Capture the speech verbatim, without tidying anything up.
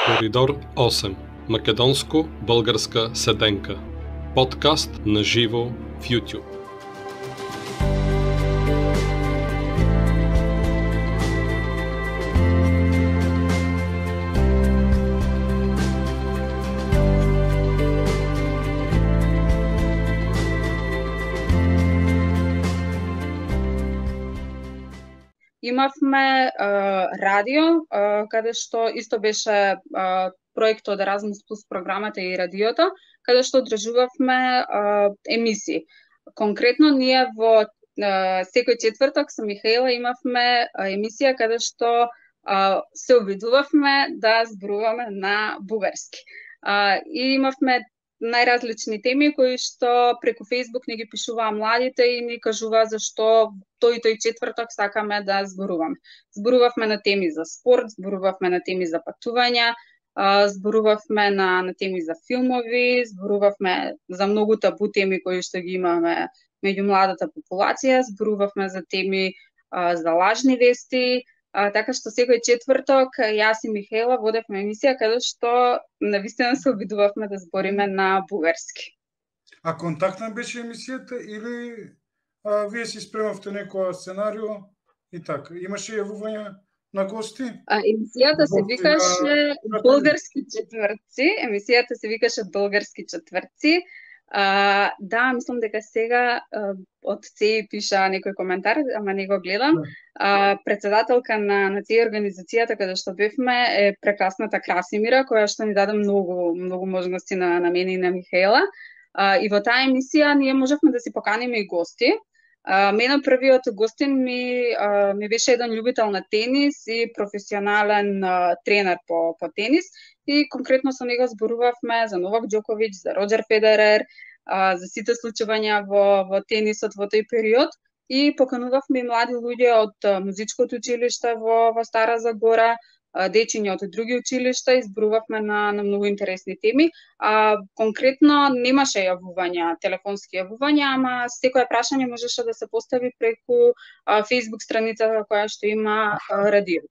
Коридор осем. Македонско-българска седенка. Подкаст на живо в YouTube. Имавме а, радио, а, каде што исто беше а, проектот Erasmus Plus програмата и радиото, каде што одржувавме а, емисии. Конкретно ние во а, секој четврток со Михаела имавме а, емисија каде што а, се обидувавме да зборуваме на бугарски. А, и имавме најразлични теми кои што преку Facebook ни ги пишуваа младите и ни кажуваа зашто тој и тој четврток сакаме да зборуваме. Зборувавме на теми за спорт, зборувавме на теми за патувања, зборувавме на, на теми за филмови, зборувавме за многу табу теми кои што ги имаме меѓу младата популација, зборувавме за теми а, за лажни вести. А, така што секој четврток јас и Михаела водевме емисија каде што навистина се обидувавме да збориме на бугарски. А контактна беше емисијата или а, вие си спремавте некоја сценарио и така? Имаше јавувања на гости? А, емисијата се викаше Български четвртци. Емисијата се викаше Български четвртци. А, да, мислам дека сега а, од ЦЕИ пиша некој коментар, ама не го гледам. А, председателка на, на ЦЕИ организацијата каде што бевме е прекрасната Красимира, која што ни даде многу, многу можности на, на мене и на Михаела. А, и во таа емисија ние можевме да си поканиме и гости. А, мене првиот гостин ми, а, ми беше еден љубител на тенис и професионален а, тренер по, по тенис. И конкретно со него зборувавме за Новак Џоковиќ, за Роџер Федерер, а, за сите случувања во, во тенисот во тој период. И поканувавме и млади луѓе од а, музичкото училиште во, во Стара Загора, а, дечиња од други училишта и зборувавме на, на многу интересни теми. А, конкретно немаше јавувања, телефонски јавувања, ама секое прашање можеше да се постави преку а, Facebook страницата која што има а, радио.